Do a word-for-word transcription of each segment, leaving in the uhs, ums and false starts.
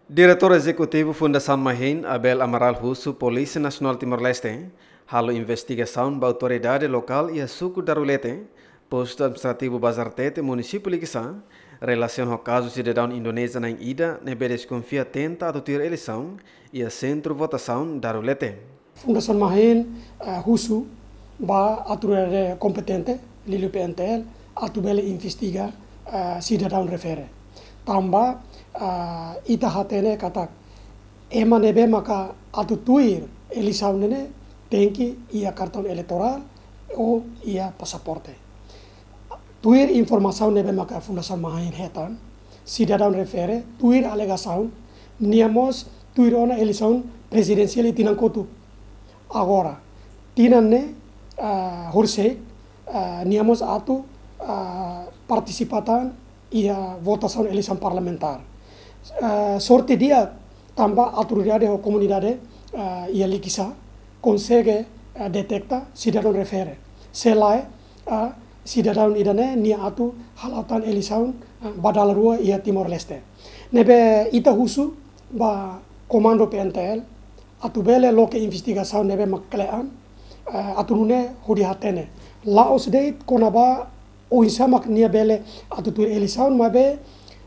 Diretór Ezekutivu Fundasaun Mahin, Abel Amaral husu Polísia Nasionál Timor-Leste halo investigasaun ba autoridade lokál iha suku Darulete, postu administrativu Bazartete, munisípiu Likisá, relasiona ho kazu sidadaun Indonézia na'in ida ne'ebé deskonfia tenta atu tuir eleisaun iha sentru votasaun Darulete. Fundasaun Mahin, eh, husu ba autoridade kompetente, liuliu P N T L, atu bele investiga, eh, sidadaun refere. Tanba, eh, ita hatene katak ema ne'ebé maka atu tuir eleisaun ne'e tenke iha kartaun eleitorál ou iha pasaporte. Tuir informasaun ne'ebé maka Fundasaun Mahin hetan, sidadaun refere, tuir alegasaun, nia mós tuir ona eleisaun prezidensiál iha tinan kotuk. Agora, tinan ne'e, ah, horisehik, ah, nia mós atu, ah, partisipa tan iha votasaun eleisaun parlamentár. Ah, sorte di'ak tanba autoridade ho komunidade, ah, iha Likisá konsege, ah, deteta sidadaun refere. Se lae, ah, sidadaun ida-ne'e nia atu hala'o tan eleisaun, ah, ba dala rua iha Timor-Leste. Ne'ebé ita husu ba komandu P N T L atu bele loke investigasaun ne'ebé mak kle'an, eh, atu nune'e hodi hatene la'ós de'it kona-ba oinsá mak nia bele atu tuir eleisaun, maibé,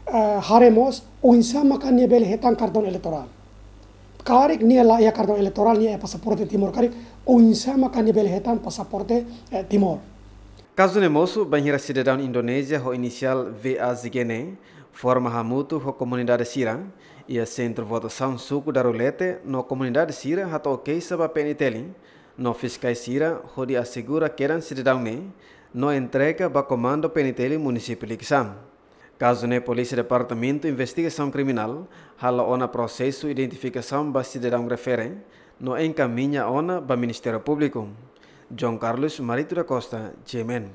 eh, haree mós oinsá maka nia bele hetan kartaun eleitorál. Karik nia la iha kartaun eleitorál, nia iha pasaporte Timor karik, oinsá maka nia bele hetan pasaporte, eh, Timor. Kazu ne'e mosu bainhira sidadaun Indonézia ho inisiál V A Z G ne'e forma hamutuk ho komunidade sira iha sentru votasaun suku Darulete, no komunidade sira hato'o keixa ba P N T L, no fiskais sira hodi asegura kedan sidadaun ne'e no entrega ba komandu P N T L munisípiu Likisá. Kazu ne'e Polísia Departamentu Investigasaun Kriminál hala'o ona prosesu identifikasaun ba sidadaun refere no enkamiña ona ba Ministériu Públiku. João Carlos Marito da Costa, G M N.